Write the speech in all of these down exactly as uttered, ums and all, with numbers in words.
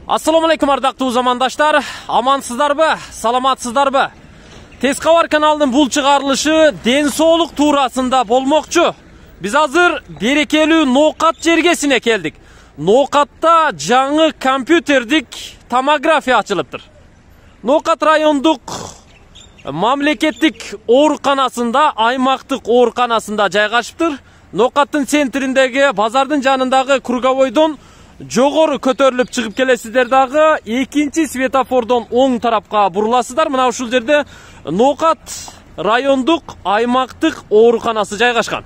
Assalomu alaykum ардактуу замандаштар. Амансыздарбы? Саламатсыздарбы? Тез кабар каналынын бул чыгарылышы ден соолук туурасында болмокчу. Биз азыр берекелүү Ноокат жергесине келдик. Ноокатта жаңы компьютердик томография ачылыптыр. Ноокат райондук мамлекеттик ооруканасында, аймактык ооруканасында жайгашыптыр. Ноокаттын центриндеги базардын жанындагы круговойдон жогору көтөрүлүп чыгып келесиздер дагы экинчи светофордон оң тарапка буруласыздар. Мына ушул жерде Ноокат райондук аймактык ооруканасы жайгашкан.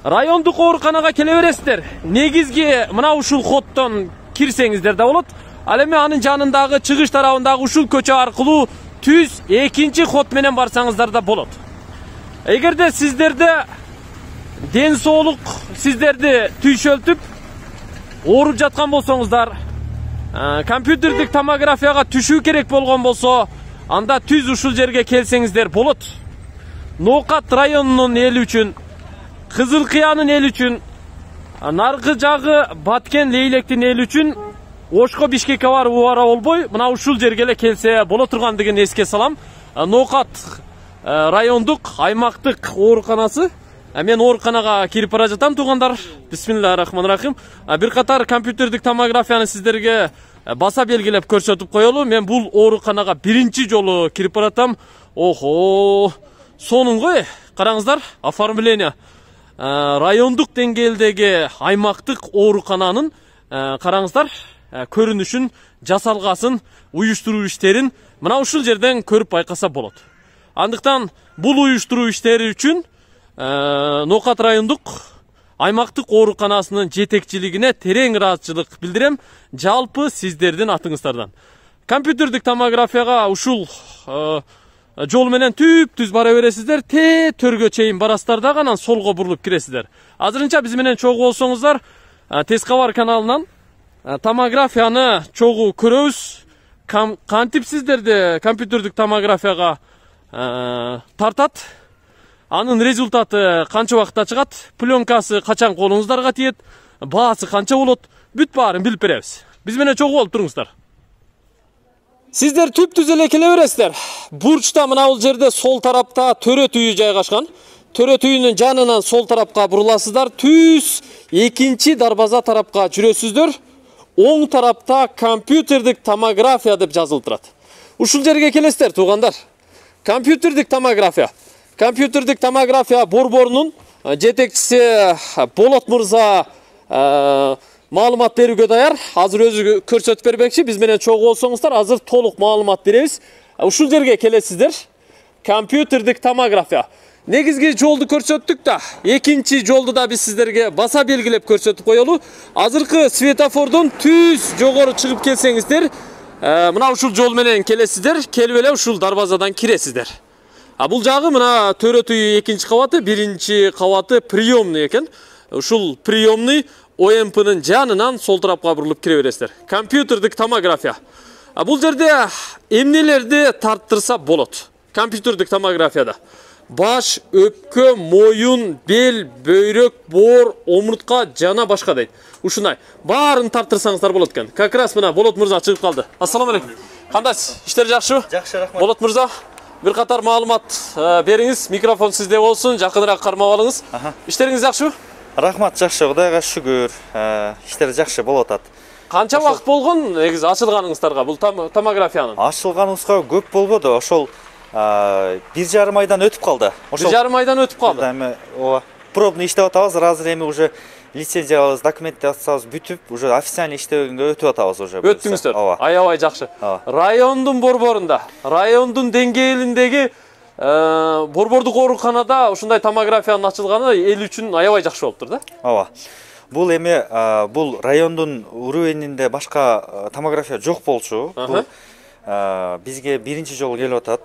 Райондук ооруканага келе бересиздер. Негизги мына ушул хоттон кирсеңиздер да болот. Ал эми анын жанындагы чыгыш тарабындагы ушул көчө аркылуу түз экинчи хот менен барсаңыздар да болот. Эгерде сиздерде ден соолук сиздерди түйшөлтүп ооруп жаткан болсоңуздар, компьютердик томографияга түшүү керек болгон болсо, анда түз ушул жерге келсеңиздер болот. Ноокат районунун эли үчүн, Кызыл Кыянын эли үчүн, наркы жагы Баткен Лейлектин эли үчүн Ошко Бишкекке барып убара болбой, мына ушул жерге эле келсе боло тургандыгын эске салам. Ноокат райондук аймактык ооруканасы. Мен ооруканага кирип бара жатам, туугандар. Бисмиллахир-рахманир-рахим. Бир катар компьютердик томографияны сиздерге баса белгилеп көрсөтүп коелу. Мен бул ооруканага биринчи жолу кирип баратам. Охо, сонуңго караңыздар, оформление. Райондук деңгээлдеги аймактык оорукананын караңыздар, көрүнүшүн, жасалгасын, уюштуруу иштерин мына ушул жерден көрүп байкаса болот. Андыктан бул уюштуруу иштери үчүн Ноокат райондук аймактык ооруканасынын жетекчилигине терең ыраазычылык билдирем, жалпы сиздердин атыңыздардан. Компьютердик томографияга ушул жол менен түп-түз бара бересиздер, те төргө чейин барасыздар да анан солго бурулуп киресиздер. Азырынча биз менен чогуу болсоңуздар, Тез кабар каналынан томографияны чогуу көрөбүз. Кантип сиздерди компьютердик томографияга тартат, анын результаты канча убакытта чыгат, пленкасы качан колуңуздарга тиет, баасы канча болот, бүт баарын билип беребиз. Биз менен чогуу болуп туруңуздар. Сиздер түп-түз эле келе бересиздер. Бурчта мына бул жерде сол тарапта төрө түйү жайгашкан. Төрө түйүнүн жанынан сол тарапка буруласыздар, түз экинчи дарбаза тарапка жүрөсүздөр. Оң тарапта компьютердик томография деп жазылып турат. Ушул жерге келесиздер, туугандар. Компьютердик томография. Компьютердик томография борборунун жетекчиси Болот мырза маалымат берүүгө даяр. Азыр өзү көрсөтүп бермекчи. Биз менен чогуу болсоңуздар, азыр толук маалымат беребиз. Ушул жерге келесиздер. Компьютердик томография. Негизги жолду көрсөттүк да, экинчи жолду да биз сиздерге баса белгилеп көрсөтүп коелу. Азыркы светофордон түз жогору чыгып келсеңиздер, мына ушул жол менен келесиздер, келип эле ушул дарбазадан киресиздер. А бул жагы мына төрө түйү экинчи кабаты, биринчи кабаты приемный экен. Ушул приемный О М П'нын жанынан сол тарапка бурулуп кире бересиздер. Компьютердик томография. А бул жерде эмнелерди тарттырса болот? Компьютердик томографияда баш, өпкө, моюн, бел, бөйрөк, боор, омуртка жана башка дейт. Ушундай баарын тарттырсаңыздар болот экен. Как раз мына Болот мырза чыгып калды. Ассаламу алейкум. Кандайсыз? Иштер жакшыбы? Жакшы, рахмат. Болот мырза, бир катар маалымат бериңиз. Микрофон сизде болсун, жакыныраак кармап алыңыз. Иштериңиз жакшыбы? Рахмат, жакшы, Кудайга шүгүр. Иштер жакшы болуп атат. Канча вакыт болгон негизи ачылганыңыздарга бул томографиянын? Ачылганыбызга көп болбоду, ошол бир жарым айдан өтүп калды. Бир жарым айдан өтүп калды. Эми ооба, пробный иштеп атабыз. Азыр эми уже лицензиябыз, документациябыз бүтүп, уже официальный иштегенге өтүп атабыз уже. Өттүңүздөр. Аябай жакшы. Райондун борборунда, райондун деңгээлиндеги борбордук ооруканада ушундай томографиянын ачылганы эл үчүн аябай жакшы болуптур да? Ооба. Бул эми бул райондун уровенинде башка томография жок болчу. Бул бизге биринчи жолу келип атат.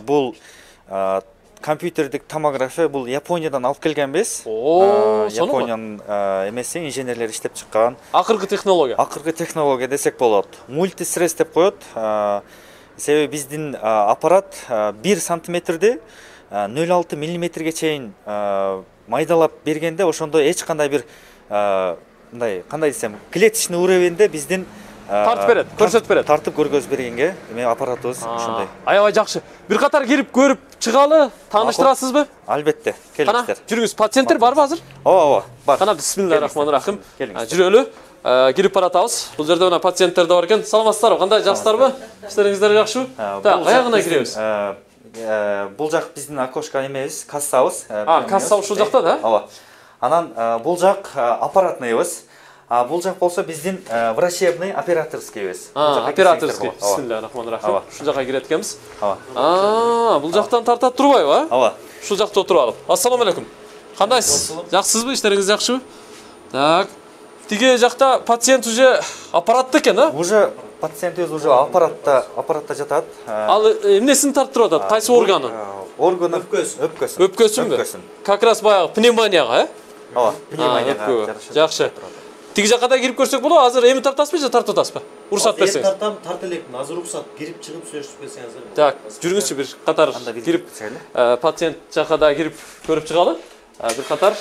Бул компьютердик томография бул Япониядан алып келгенбиз. Япониянын эмеси инженерлери иштеп чыккан. Акыркы технология. Акыркы технология десек болот. Мультистресс деп коет. Себеби биздин аппарат бир сантиметрди нөл алты миллиметрге чейин майдалап бергенде, ошондо эч кандай бир мындай кандай десем, клеточный уровеньде биздин тартып берет, көрсөтүп берет. Тартып көргөзүп бергенге эме аппаратыбыз ушундай. Аябай жакшы. Бир катар кирип көрүп чыгалы, тааныштырасызбы? Албетте, келиңиздер. Кана, жүрүңүз. Пациенттер барбы азыр? Ооба, ооба, бар. Кана, бисмиллахиррахманиррахим. Жүрөлү. Кирип баратабыз. Бул жерде мына пациенттер да бар экен. Саламатсыздарбы? Кандай, жакшысыздарбы? Иштериңиздер жакшыбы? Так, аягына киребиз. Бул жак биздин окошко эмебиз, кассабыз. А, касса ушул жакта да? Ооба. Анан бул жак аппаратныйбыз. А бул жак болсо биздин врачебный операторскийбиз. Операторский. Бисмиллахиррахманиррахим. Ушул жакка кирет экенбиз. Ооба. А, бул жактан тартат турбайбы, а? Ооба. Ушул жакта отуруп алып. Ассаламу алейкум. Кандайсыз? Жакшысызбы? Иштериңиз жакшыбы? Так. Тиги жакта пациент уже аппаратта экен, а? Уже пациентибиз уже аппаратта, аппаратта жатат. Ал эмнесин тартып атат? Кайсы органы? Органы өпкөсүн. Өпкөсүн. Өпкөсүн. Как раз баягы пневмонияга, э? Ооба, пневмонияга жараша. Жакшы. Тиги жакка да кирип көрсөк болобу? Азыр эми тартасызбы же тартып атасызбы? Уруксат берсеңиз. Тартам, тарт элекмин. Азыр уруксат кирип чыгып сөйлөшүп берсеңиз. Так, жүрүңүзчү бир катар кирип пациент жакка да кирип көрүп чыгалы. Бир катар.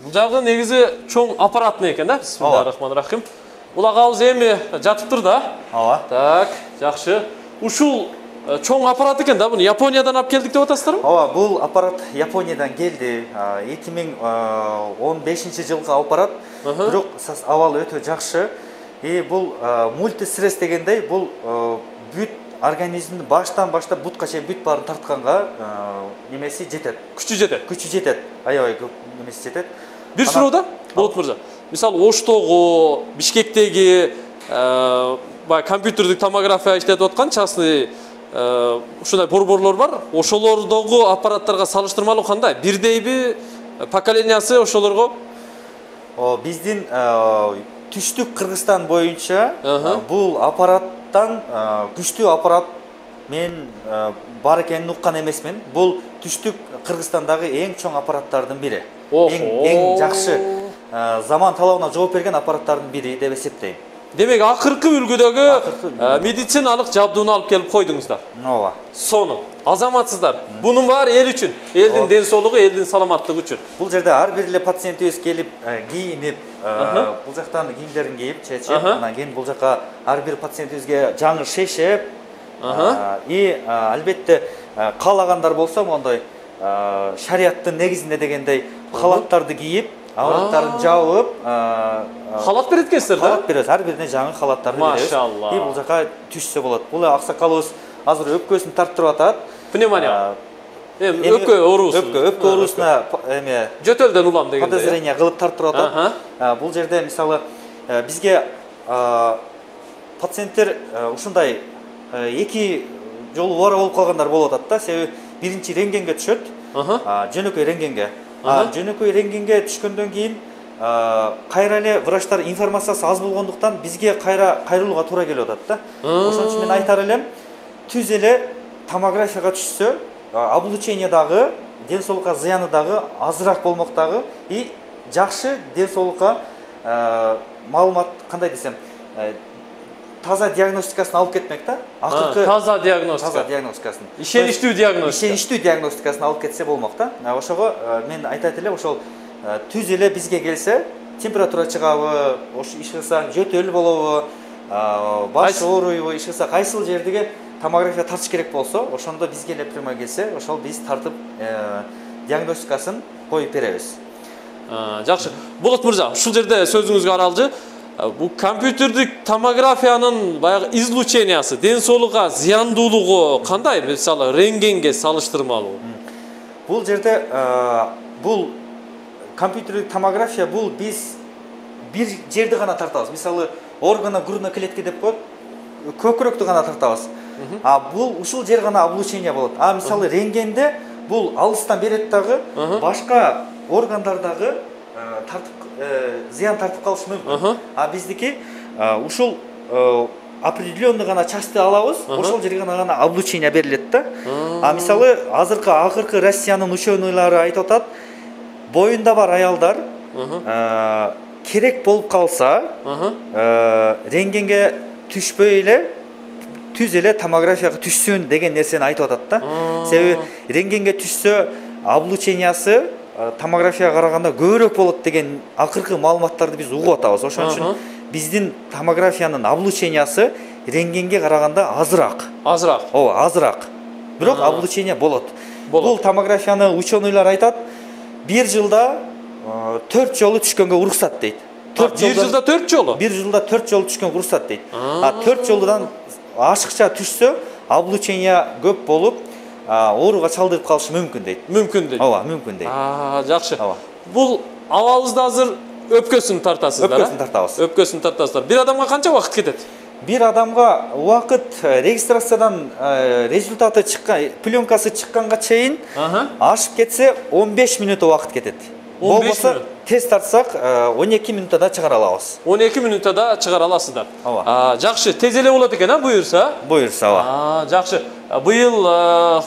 Бул жагы негизи чоң аппаратный экен да? Бисмиллахиррахманиррахим. Бул агабыз эми жатыптыр да? Ооба. Так, жакшы. Ушул чоң аппарат экен да? Буну Япониядан алып келдик деп атасыздарбы? Ооба, бул аппарат Япониядан келди. эки миң он бешинчи жылкы аппарат. Бирок абалы өтө жакшы. И бул мультистресс дегендей, бул бүт организмди баштан баштап бутка чейин бүт баарын тартканга немеси жетет. Күчү жетет. Күчү жетет. Аябай көп немеси жетет. Бир суроо да? Болот мырза. Мисалы Оштогу, Бишкектеги бай компьютердик томография иштетип аткан частный ушундай борборлор бар. Ошолордогу аппараттарга салыштырмалуу кандай? Бирдейби поколениясы ошолорго? О, биздин түштүк Кыргызстан боюнча бул аппараттан күчтүү аппарат мен бар экенин уккан эмесмин. Бул түштүк Кыргызстандагы эң чоң аппараттардын бири. Эң эң жакшы заман талабына жооп берген аппараттардын бири деп эсептейм. Демек, акыркы үлгүдөгү медициналык жабдууну алып келип койдуңуздар. Ооба. Сону азаматсыздар. Бунун баары эл үчүн, элдин ден соолугу, элдин саламаттыгы үчүн. Бул жерде ар бир эле пациентибиз келип, кийинип, бул жактан кийимдерин кийип, чечип, анан кийин бул жакка ар бир пациентибизге жаңы шешеп, и албетте каалагандар болсо мондой шарияттын негизинде дегендей халаттарды кийип, авраттарын жабып, халат берет экенсиздер да? Халат беребиз, ар бирине жаңы халаттарды беребиз. Машалла. И бул жака түшсө болот. Бул аксакалыбыз азыр өпкөсүн тарттырып атат. Пневмония. Эми өпкө оорусу. Өпкө, өпкө оорусуна эме жөтөлдөн улам дегенде. Подозрение кылып тарттырып атат. Бул жерде мисалы бизге пациенттер ушундай эки жолу ора болуп калгандар болуп атат да. Себеби биринчи рентгенге түшөт. Жөнөкөй рентгенге. Жөнөкөй рентгенге түшкөндөн кийин кайра эле врачтар информациясы аз болгондуктан бизге кайра кайрылууга туура келип атат да. Ошон үчүн мен айтар элем, түз эле томографияга түшсө, облучение дагы, ден соолукка зыяны дагы азыраак болмок дагы, и жакшы ден соолукка маалымат, кандай десем, таза диагностикасын алып кетмек да. Акыркы таза диагностика. Таза диагностикасын. Ишеничтүү диагностика. Ишеничтүү диагностикасын алып кетсе болмок да. Ошого мен айтат элем, ошол түз эле бизге келсе, температура чыгабы, ош иш кылса жөтөл болобу, баш ооруйбу, иш кылса кайсыл жердеги томография тартыш керек болсо, ошондо бизге эле прямой келсе, ошол биз тартып диагностикасын коюп беребиз. Жакшы. Болот мырза, ушул жерде сөзүңүзгө аралжы. Бу компьютердик томографиянын баягы излучениясы, ден соолукка зыяндуулугу кандай? Мисалы, рентгенге салыштырмалуу. Бул жерде бул компьютердик томография бул биз бир жерди гана тартабыз. Мисалы, органа грудной клетки деп коет, көкүрөктү гана тартабыз. А бул ушул жер гана облучение болот. А мисалы, рентгенде бул алыстан берет дагы, башка органдардагы тартып зыян тартып калышы мүмкүн. А биздики ушул определенный гана части алабыз, ошол жерге гана облучение берилет да. А мисалы, азыркы акыркы Россиянын ученыйлары айтып атат, боюнда бар аялдар керек болуп калса, рентгенге түшпөй эле түз эле томографияга түшсүн деген нерсени айтып атат да. Себеби рентгенге түшсө облучениясы томографияга караганда көбүрөөк болот деген акыркы маалыматтарды биз угуп атабыз. Ошон үчүн биздин томографиянын облучениясы рентгенге караганда азыраак. Азыраак. Ооба, азыраак. Бирок облучение болот. Бул томографияны ученыйлар айтат, бир жылда төрт жолу түшкөнгө уруксат дейт. бир жылда төрт жолу? бир жылда төрт жолу түшкөнгө уруксат дейт. А төрт жолудан ашыкча түшсө, облучение көп болуп, ооруга чалдырып калышы мүмкүн дейт. Мүмкүн дейт. Ооба, мүмкүн дейт. А, жакшы. Бул абалыбызда азыр өпкөсүн тартасыздар, а? Өпкөсүн тартабыз. Өпкөсүн тартасыздар. Бир адамга канча убакыт кетет? Бир адамга убакыт регистрациядан результаты чыккан, пленкасы чыкканга чейин ашып кетсе он беш мүнөт убакыт кетет. Болбосо тест тартсак он эки мүнөттө чыгара алабыз. он эки мүнөттө да чыгара аласыздар. Ооба. Жакшы, тез эле болот экен, а, буюрса? Буюрса, ооба. А, жакшы. Быйыл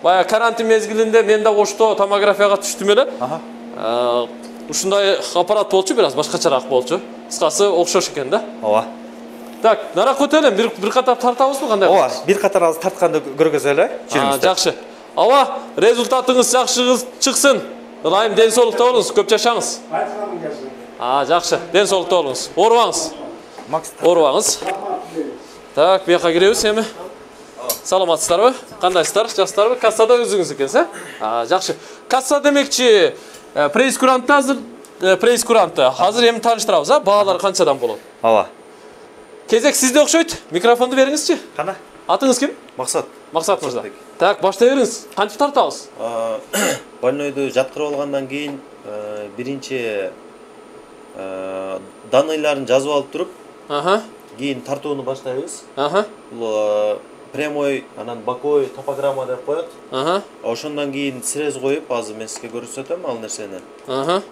бая карантин мезгилинде мен да Ошто томографияга түштүм эле. Аха. Ушундай аппарат болчу, бир аз башкачараак болчу. Кыскасы окшош экен да. Ооба. Так, нарак өтөлөм. Бир бир катар тартабызбы кандай? Ооба, бир катар аз тартканды көргөзөлү. А, жакшы. Аба, результатыңыз жакшы чыксын. Ылайым ден соолукта болуңуз, көп жашаңыз. А, жакшы. Ден соолукта болуңуз. Оорубаңыз. Оорубаңыз. Так, бияка киребиз эми. Саламатсыздарбы? Кандайсыздар? Жакшысыздарбы? Кассада өзүңүз экенсиз, а? Жакшы. Касса демекчи, прейскурантты азыр прейскурантты азыр эми тааныштырабыз, а? Баалар канчадан болот? Ооба. Кезек сизде окшойт. Микрофонду бериңизчи. Кана? Атыңыз ким? Максат. Максат мырза. Так, баштай бериңиз. Кантип тартабыз? Больнойду жаткырып алгандан кийин биринчи данныйларын жазып алып туруп, Аха. Кийин тартууну баштайбыз. Аха. Бул прямой, анан боковой топограмма деп коет. Аха. Ошондон кийин срез коюп, азыр мен сизге көрсөтөм ал нерсени. Аха.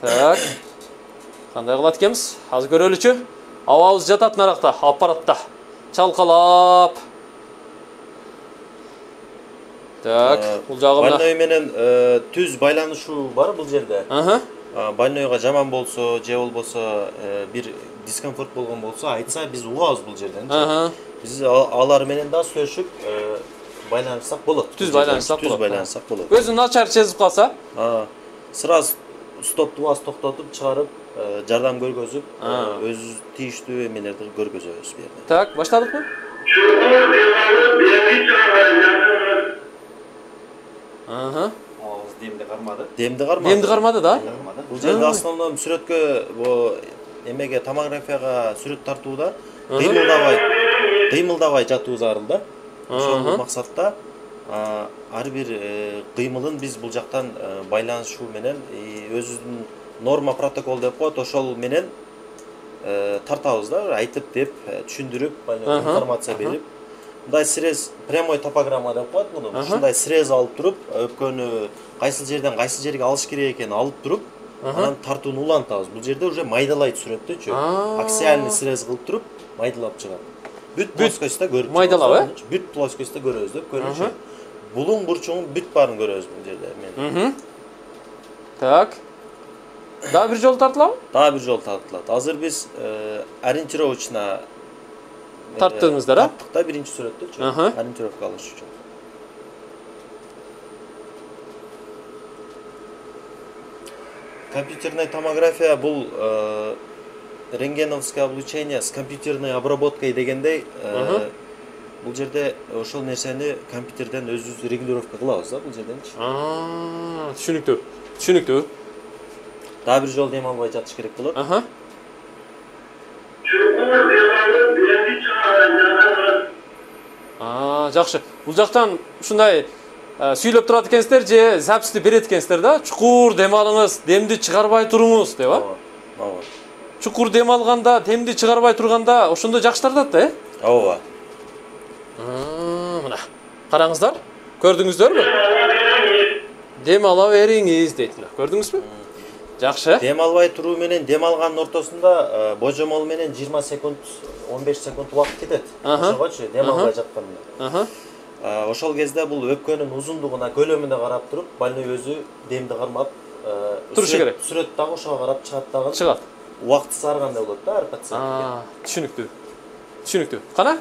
Так. Кандай кылат экенбиз? Азыр көрөлүчү. Абабыз жатат наракта, аппаратта. Чалкалап. Так, бул жагымда. Больной менен түз байланышуу бар бул жерде. Аха. Больнойго жаман болсо, же болбосо бир дискомфорт болгон болсо, айтса биз угабыз бул жерден. Аха. Биз алар менен да сүйлөшүп байланышсак болот. Түз байланышсак болот. Түз байланышсак болот. Көзүн начар сезип калса, сразу стопту бас токтотуп чыгарып, жардам көргөзүп, өз тийиштүү эмелерди көргөзөбүз бу жерде. Так, баштадыкпы? Аха. Абабыз демди кармады. Демди кармады. Демди кармады да? Бул жерде основном сүрөткө, бу эмеге томографияга сүрөт тартууда кыймылдабай, кыймылдабай жатуу зарыл да. Ошол максатта ар бир кыймылын биз бул жактан байланышуу менен өзүбүздүн норма протокол деп коет, ошол менен тартабыз да, айтып деп, түшүндүрүп, информация берип. Мындай срез, прямой топограмма деп коет муну. Ушундай срез алып туруп, өпкөнү кайсыл жерден кайсыл жерге алыш керек экенин алып туруп, анан тартууну улантабыз. Бул жерде уже майдалайт сүрөттүчү. Аксиальный срез кылып туруп, майдалап чыгат. Бүт плоскостьта көрүп. Майдалап, э? Бүт плоскостьта көрөбүз деп көрүнчү. Булуң бурчуңун бүт баарын көрөбүз бул жерде мен. Так. Дагы бир жолу тартылабы? Дагы бир жолу тартылат. Азыр биз ориентировочно тарттыңыздар, а? Тарттык да биринчи сүрөттүчү. Ориентировка алыш үчүн. Компьютерная томография бул рентгеновское облучение с компьютерной обработкой дегендей, бул жерде ошол нерсени компьютерден өзүбүз регулировка кылабыз да бул жерденчи. Аа, түшүнүктүү. Түшүнүктүү. Дагы бир жолу дем албай жатыш керек болот. Аха. Аа, жакшы. Бул жактан ушундай сүйлөп турат экенсиздер же записти берет экенсиздер да? Чукур дем алыңыз, демди чыгарбай туруңуз деп, а? Ооба. Чукур дем алганда, демди чыгарбай турганда ошондо жакшы тартат да, э? Ооба. Аа, мына. Караңыздар. Көрдүңүздөрбү? Дем ала бериңиз дейт. Көрдүңүзбү? Жакшы. Дем албай туруу менен дем алганын ортосунда божомол менен жыйырма секунд, он беш секунд убакыт кетет. Ошогочу дем албай жатканда. Аха. Ошол кезде бул өпкөнүн узундугуна, көлөмүнө карап туруп, больной өзү демди кармап турушу керек. Сүрөт дагы ошого карап чыгат дагы. Чыгат. Убакыты саргандай болот да ар пациентке. Аа, түшүнүктүү. Түшүнүктүү. Кана?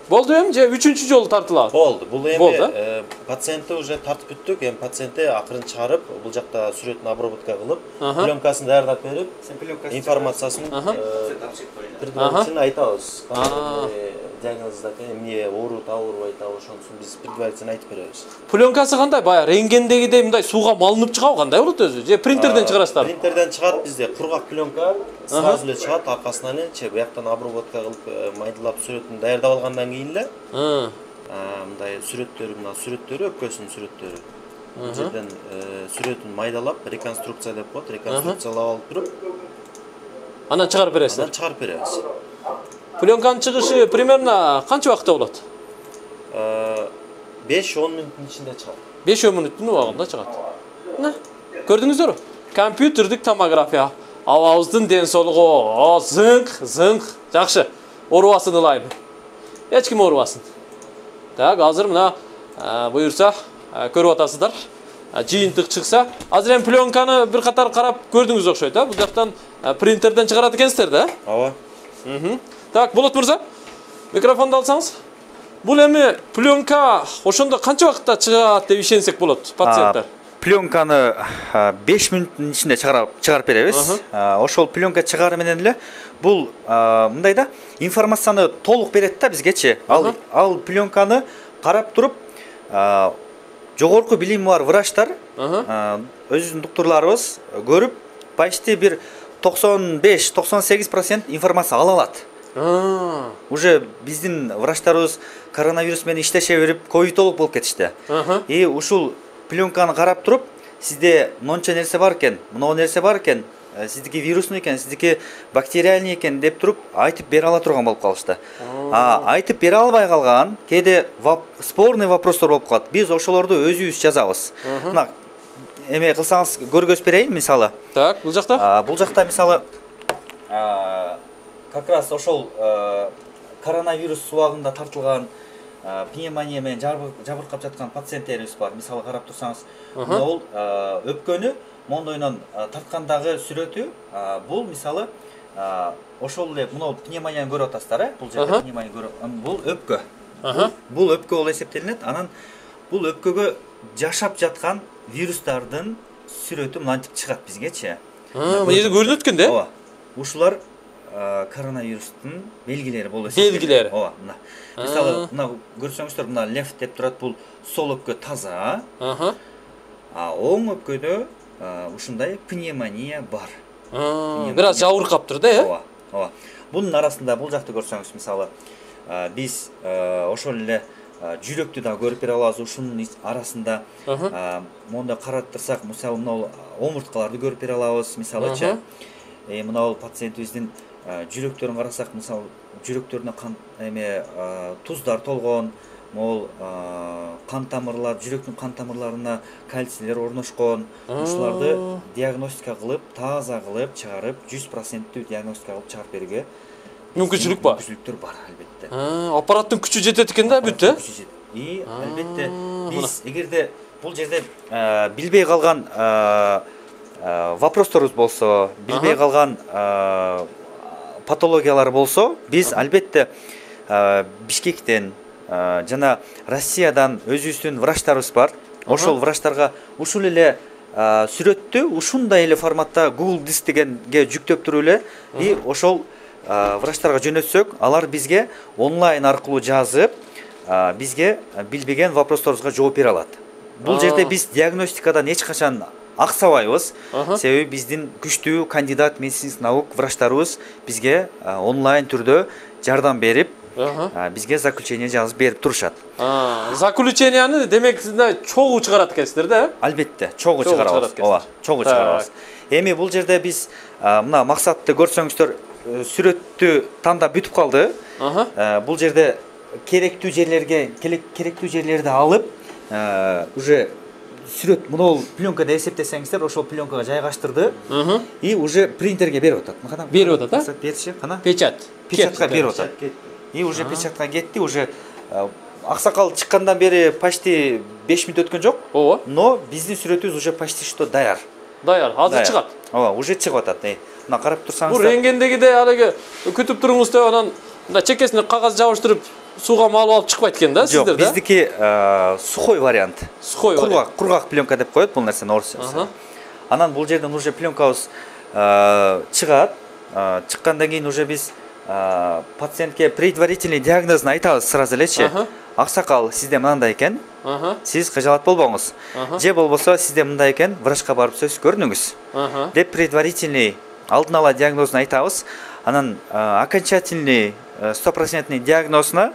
Болду эми же үчүнчү жолу тартылат? Болду. Бул Болду, эми пациентти уже тартып бүттүк. Эми пациентти акырын чыгарып, бул жакта сүрөтүн обработка кылып, пленкасын даярдап берип, информациясын предварительно айтабыз. Диагнозда эмне ооруп, аурубайт, ошонусун биз предварительно айтып беребиз. Пленкасы кандай? Баягы рентгендегидей мындай сууга малынып чыгабы кандай болот өзү? Же принтерден чыгарасыздар? Принтерден чыгат бизде. Кургак пленка сразу эле чыгат, аркасынан эле бияктан обработка кылып, майдалап сүрөтүн даярдап алгандан кийин эле мындай сүрөттөрү, мына сүрөттөрү, өпкөсүнүн сүрөттөрү. Бул жерден сүрөтүн майдалап, реконструкция деп коет, реконструкциялап алып туруп, анан чыгарып бересиз. Анан чыгарып беребиз. Пленканын чыгышы примерно канча убакытта болот? беш он мүнөттүн ичинде чыгат. беш он мүнөттүн убагында чыгат. Мына, көрдүңүздөрбү? Компьютердик томография. Абабыздын ден соолугу зыңк, зыңк, жакшы. Оорубасын ылайым. Эч ким оорубасын. Так, азыр мына буюрса көрүп атасыздар. Жыйынтык чыкса, азыр эми пленканы бир катар карап көрдүңүз окшойт, а? Бул жактан принтерден чыгарат экенсиздер да? Ооба. Так, Болот мырза, микрофонду алсаңыз. Бул эми пленка ошондо канча убакытта чыгат деп ишенсек болот пациенттер? Пленканы беш мүнөттүн ичинде чыгарып беребиз. Ошол пленка чыгаары менен эле бул мындай да информацияны толук берет да бизгечи. Ал ал пленканы карап туруп, жогорку билими бар врачтар, өзүбүздүн доктурларыбыз көрүп, почти бир токсон беш токсон сегиз процент информация ала алат. Уже биздин врачтарыбыз коронавирус менен иштеше берип, ковидолог болуп кетишти. И ушул пленканы карап туруп, сизде монча нерсе бар экен, мына нерсе бар экен, сиздики вирусный экен, сиздики бактериальный экен деп туруп айтып бере ала турган болуп калышты. А айтып бере албай калган, кээде спорный вопростор болуп калат. Биз ошолорду өзүбүз жазабыз. Мына эме кылсаңыз көргөзүп берейин, мисалы. Так, бул жакта? Бул жакта мисалы как раз ошол коронавирус убагында тартылган пневмония менен жабыркап жаткан пациенттерибиз бар. Мисалы карап турсаңыз, бул өпкөнү мондойдон тарткандагы сүрөтү, бул мисалы ошол эле мына пневмонияны көрүп атасыздар, э? Бул жерде пневмония көрүп, бул өпкө. Бул өпкө болуп эсептелинет. Анан бул өпкөгө жашап жаткан вирустардын сүрөтү мынтип чыгат бизгечи. Мына жерде көрүнөт экен да? Ооба. Ушулар коронавирустун белгилери болуп эсептелет. Белгилери. Ооба, мына. Мисалы, мына көрсөңүздөр, мына лев деп турат, бул сол өпкө таза. А оң өпкөдө ушундай пневмония бар. Бир аз жабыркаптыр да, э? Ооба, ооба. Бунун арасында бул жакты көрсөңүз, мисалы, биз ошол эле жүрөктү да көрүп бере алабыз. Ушунун арасында монда караттырсак, мисалы, мына омурткаларды көрүп бере алабыз, мисалычы. Э, мына пациентибиздин жүрөктөрүн карасак, мисалы, жүрөктөрүнө кан эме туздар толгон, могул кан тамырлар, жүрөктүн кан тамырларына кальцийлер орношкон. Ушуларды диагностика кылып, таза кылып чыгарып, жүз проценттүү диагностика кылып чыгарып берүүгө мүмкүнчүлүк бар. Мүмкүнчүлүктөр бар, албетте. Аппараттын күчү жетет экен да, бүт, э? И албетте биз эгерде бул жерде билбей калган вопросторубуз болсо, билбей калган патологиялар болсо, биз албетте Бишкектен жана Россиядан өзүбүздүн врачтарыбыз бар. Ошол врачтарга ушул эле сүрөттү ушундай эле форматта Google Диск дегенге жүктөп туруп эле и ошол врачтарга жөнөтсөк, алар бизге онлайн аркылуу жазып, бизге билбеген вопросторубузга жооп бере алат. Бул жерде биз диагностикадан эч качан аксабайбыз. Себеби биздин күчтүү кандидат медицинских наук врачтарыбыз бизге онлайн түрдө жардам берип, бизге заключение жазып берип турушат. Заключенияны демек сизде чогуу чыгарат экенсиздер да? Албетте, чогуу чыгарабыз. Ооба, чогуу чыгарабыз. Эми бул жерде биз мына максатты көрсөңүздөр, сүрөттү тандап бүтүп калды. Бул жерде керектүү жерлерге, керектүү жерлерди алып, уже сүрөт мына пленкада эсептесеңиздер, ошол пленкага жайгаштырды и уже принтерге берип атат. Берип атат, а? Берчи, кана? Печать. Печатка берип атат. И уже печатка кетти, уже аксакал чыккандан бери почти беш мүнөт өткөн жок. Ооба. Но биздин сүрөтүбүз уже почти что даяр. Даяр, азыр чыгат. Ооба, уже чыгып атат. Мына карап турсаңыздар. Бул рентгендегидей алеге күтүп туруңуз деп анан мында чекесине кагаз жабыштырып сууга малып алып чыкпайт экен да Жок, сиздерде? биздики сухой вариант. Сухой вариант. Кургак, кургак пленка деп коет бул нерсени орусчасы. Анан бул жерден уже пленкабыз чыгат. Чыккандан кийин уже биз пациентке предварительный диагнозун айтабыз сразу элечи. Аксакал, сизде мындай экен. Сиз кыжалат болбоңуз. Же болбосо сизде мындай экен, врачка барып сөз көрүнүңүз. Деп предварительный алдын ала диагнозун айтабыз. Анан окончательный стопроцентный диагнозуна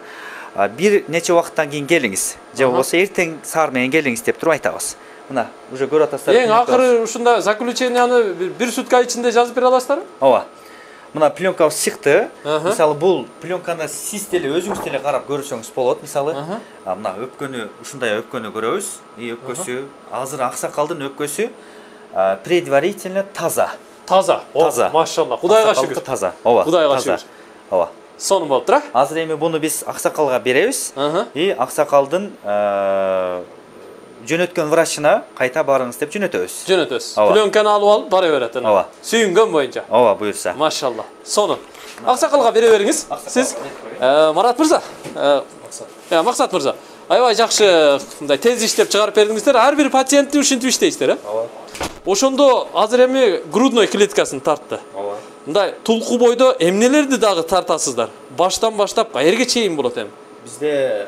бир нече убакыттан кийин келиңиз. Же болбосо эртең саар менен келиңиз деп туруп айтабыз. Мына, уже көрүп атасыздар. Эң акыры ушунда заключенияны бир сутка ичинде жазып бере аласыздарбы? Ооба. Мына пленкабыз чыкты. Мисалы бул пленканы сиз деле өзүңүз деле карап көрсөңүз болот. Мисалы, мына өпкөнү, ушундай өпкөнү көрөбүз. И өпкөсү, азыр аксакалдын өпкөсү предварительно таза. Таза. Таза. Машалла. Кудайга шүгүр. Таза. Ооба. Кудайга шүгүр. Ооба. Сонун болуптур, а? Азыр эми буну биз аксакалга беребиз. И аксакалдын жөнөткөн врачына кайта барыңыз деп жөнөтөбүз. Жөнөтөбүз. Пленканы алып алып бара берет ана. Ооба. Сүйүнгөн боюнча. Ооба, буюрса. Машалла. Сонун. Аксакалга бере бериңиз. Сиз Марат мырза, Максат мырза. Аябай жакшы мындай тез иштеп чыгарып бердиңиздер. Ар бир пациентти ушинтип иштейсиздер, э? Ооба. Ошондо азыр эми грудной клеткасын тартты. Ооба. Мындай тулку бойдо эмнелерди дагы тартасыздар? Баштан баштап каерге чейин болот эми? Бизде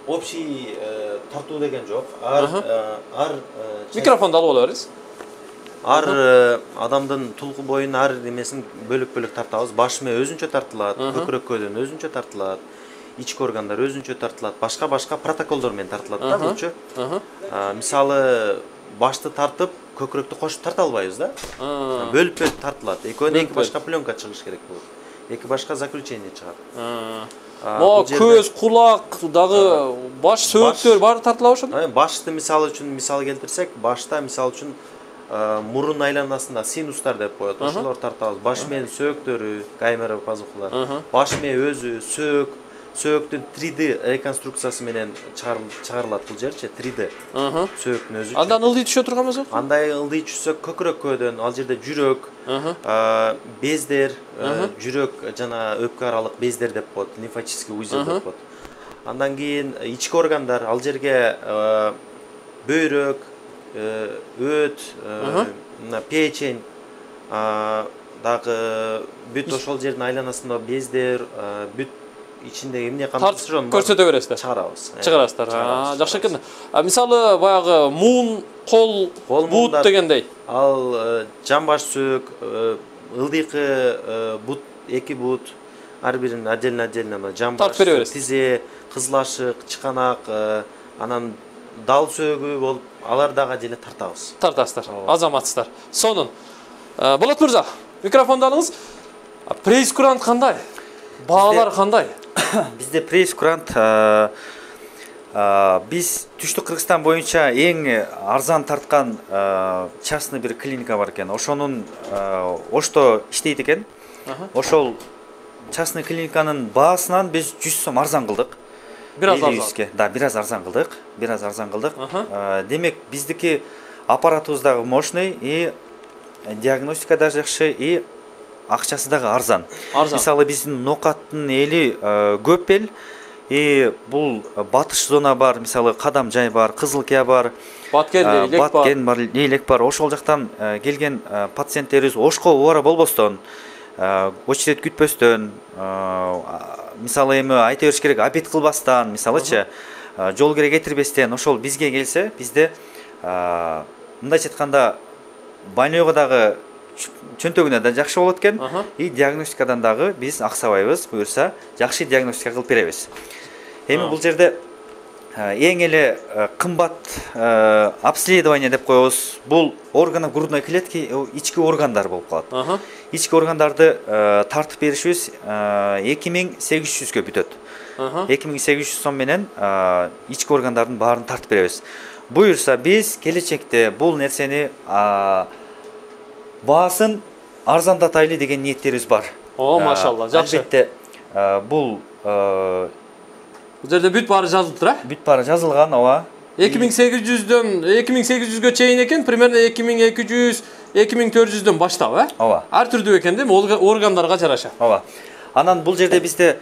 общий тартуу деген жок. Ар ар Микрофонду алып ала бериңиз. Ар адамдын тулку боюнун ар немесин бөлөк-бөлөк тартабыз. Баш мээ өзүнчө тартылат, көкүрөккөдөн өзүнчө тартылат, ички органдар өзүнчө тартылат, башка-башка протоколдор менен тартылат да булчу. Мисалы, башты тартып, көкүрөктү кошуп тарта албайбыз да. Бөлүп-бөлүп тартылат. Экөөнү эки башка пленка чыгыш керек болот. Эки башка заключение чыгат. Мо көз, кулак, дагы баш, сөөктөр баары тартылабы ошондо? Башты мисалы үчүн мисал келтирсек, башта мисалы үчүн мурун айланасында синустар деп коет. Ошолор тартабыз. Баш мээнин сөөктөрү, камера пазухалар. Баш мээ өзү, сөөк, сөөктүн три дэ реконструкциясы менен чыгарылат бул жерчи, три дэ. Сөөктүн өзү. Андан ылдый түшө турган болсо? Андай ылдый түшсө көкүрөккөдөн, ал жерде жүрөк, бездер, жүрөк жана өпкө аралык бездер деп коет, лимфатический узел деп коет. Андан кийин ички органдар, ал жерге бөйрөк, өт, печень, дагы бүт ошол жердин айланасында бездер, бүт ичинде эмне кантышыр көрсөтө бересиздер. Чыгарабыз. Чыгарасыздар. Жакшы экен. Мисалы баягы муун, кол, бут дегендей. Ал жамбаш сөөк, ылдыйкы бут, эки бут, ар бирин отдельно-отдельно жамбаш, тизе, кызылашык, чыканак, анан дал сөөгү болуп, алар дагы деле тартабыз. Тартасыздар. Азаматсыздар. Сонун. Болот мырза, микрофонду алыңыз. Прейскурант кандай? Баалар кандай? Бизде прейскурант биз Түштүк Кыргызстан боюнча эң арзан тарткан частный бир клиника бар экен. Ошонун Ошто иштейт экен. Ошол частный клиниканын баасынан биз жүз сом арзан кылдык. Бир аз арзан. Да, бир аз арзан кылдык. Бир аз арзан кылдык. Демек, биздики аппаратыбыз дагы мощный и диагностика да жакшы и акчасы дагы арзан. Мисалы биздин нокаттын эли көп эл, и бул батыш зона бар, мисалы Кадам жай бар, Кызылкия бар, Баткен, Лейлек бар. Баткен бар, Лейлек бар. Ошол жактан келген пациенттерибиз ошко убара болбостон, очередь күтпөстөн, мисалы эми айта бериш керек, обед кылбастан, мисалычы, жол кире кетирбестен ошол бизге келсе, бизде мындайча айтканда больнойго дагы чөнтөгүнө да жакшы болот экен, и диагностикадан дагы биз аксабайбыз, буюрса жакшы диагностика кылып беребиз. Эми бул жерде эң эле кымбат обследование деп коебуз. Бул органы грудной клетки, ички органдар болуп калат. Ички органдарды тартып беришибиз эки миң сегиз жүзгө бүтөт. эки миң сегиз жүз сом менен ички органдардын баарын тартып беребиз. Буюрса биз келечекте бул нерсени баасын арзандатайлы деген ниеттерибиз бар. О, машалла, жакшы. Албетте, бул бул жерде бүт баары жазылып тур, а? Бүт баары жазылган, ооба. эки миң сегиз жүздөн эки миң сегиз жүзгө чейин экен, примерно эки миң эки жүз, эки миң төрт жүздөн баштап, а? Ооба. Ар түрдүү экен, дейм, органдарга жараша. Ооба. Анан бул жерде бизде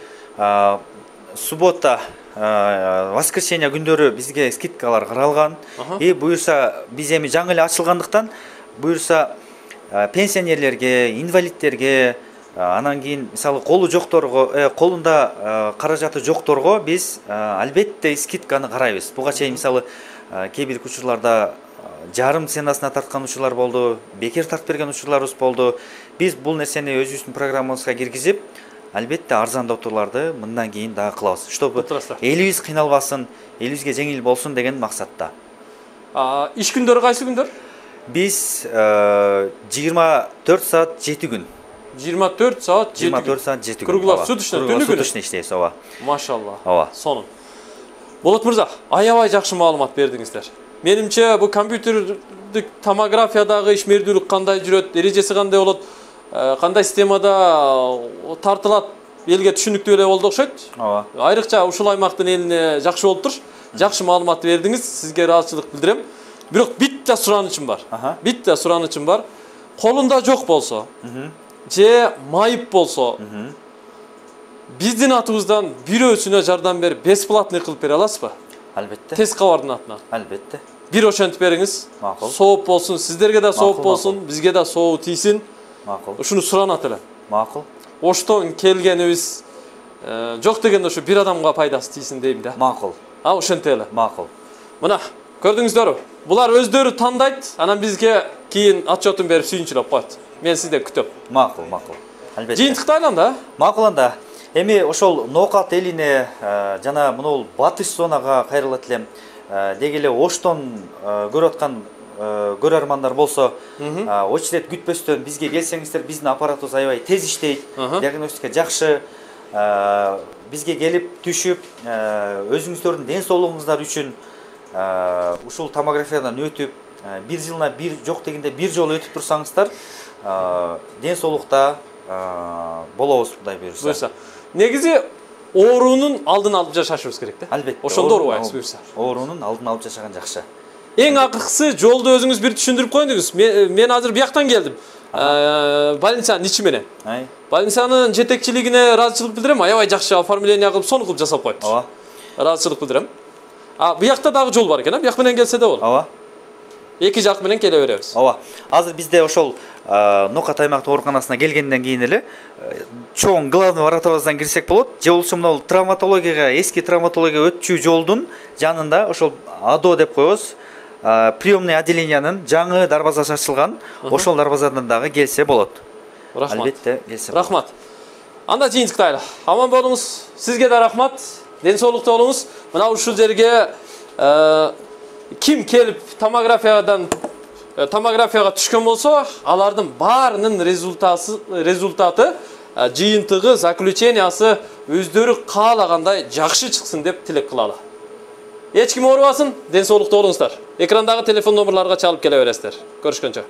суббота, воскресенье күндөрү бизге скидкалар каралган. И буюрса биз эми жаңы эле ачылгандыктан, буюрса пенсионерлерге, инвалидтерге, анан кийин мисалы колу жокторго, колунда каражаты жокторго биз албетте скидканы карайбыз. Буга чейин мисалы кээ бир учурларда жарым ценасына тарткан учурлар болду, бекер тартып берген учурларыбыз болду. Биз бул нерсени өзүбүздүн программабызга киргизип, албетте арзандатууларды мындан кийин дагы кылабыз. Чтобы элибиз кыйналбасын, элибизге жеңил болсун деген максатта. Иш күндөрү кайсы күндөр? Биз жыйырма төрт саат жети күн. жыйырма төрт саат жети күн. жыйырма төрт саат жети күн. Круглап суточный түнү күнү. Суточный иштейбиз, ооба. Машалла. Ооба. Сонун. Болот мырза, аябай жакшы маалымат бердиңиздер. Менимче бул компьютердик томографиядагы ишмердүүлүк кандай жүрөт, эрежеси кандай болот, кандай системада тартылат, элге түшүнүктүү эле болду окшойт. Ооба. Айрыкча ушул аймактын элине жакшы болуптур. Жакшы маалымат бердиңиз, сизге ыраазычылык билдирем. Бирок битте суранычым бар. Битте суранычым бар. Колунда жок болсо, же майып болсо, биздин атыбыздан бирөөсүнө жардам берип, бесплатный кылып бере аласызбы? Албетте. Тез кабардын атынан. Албетте. Бир ошентип бериңиз. Макул. Сооп болсун, сиздерге да сооп болсун, бизге да сообу тийсин. Макул. Ушуну суранат элем. Макул. Оштон келгенибиз жок дегенде ушу бир адамга пайдасы тийсин дейм да. Макул. А ошентели эле. Макул. Мына, көрдүңүздөрбү? Булар өздөрү тандайт, анан бизге кийин отчетун берип сүйүнчүлөп коет. Мен сиздерди күтөм. Макул, макул. Албетте. Жыйынтыкты айланда? Макул анда. Эми ошол Ноокат элине жана мынул батыш зонага кайрылат элем. Деги эле Оштон көрүп аткан көрөрмандар болсо, очеред күтпөстөн бизге келсеңиздер, биздин аппаратыбыз аябай тез иштейт, диагностика жакшы. Бизге келип түшүп, өзүңүздөрдүн ден соолугуңуздар үчүн ушул томографиядан өтүп, бир жылына бир жок дегенде бир жолу өтүп турсаңыздар, ден соолукта болобуз Кудай буйрса. Негизи оорунун алдын алып жашашыбыз керек да. Албетте. Ошондо оорубайбыз буйрса. Оорунун алдын алып жашаган жакшы. Эң акыркысы жолду өзүңүз бир түшүндүрүп коюңуз. Мен азыр бияктан келдим. Больницанын ичи менен. Больницанын жетекчилигине ыраазычылык билдирем. Аябай жакшы оформление кылып, сону кылып жасап коет. Ооба. Ыраазычылык билдирем. А биякта дагы жол бар экен, а бияк менен келсе да болот. Ооба. Эки жак менен келе беребиз. Ооба. Азыр бизде ошол Ноокат аймактык ооруканасына келгенден кийин эле чоң главный воротабыздан кирсек болот. Же болбосо мына травматологияга, эски травматологияга өтчү жолдун жанында ошол АДО деп коебуз. Приемный отделениянын жаңы дарбазасы ачылган. Ошол дарбазадан дагы келсе болот. Рахмат. Албетте келсе болот. Рахмат. Анда жыйынтыкты айла. Аман болуңуз. Сизге да рахмат. Ден соолукта болуңуз. Мына ушул жерге ким келип томографиядан томографияга түшкөн болсо, алардын баарынын результаты результаты жыйынтыгы, заключениясы өздөрү каалагандай жакшы чыксын деп тилек кылалы. Эч ким оорубасын, ден соолукта болуңуздар. Экрандагы телефон номерларга чалып келе бересиздер. Көрүшкөнчө.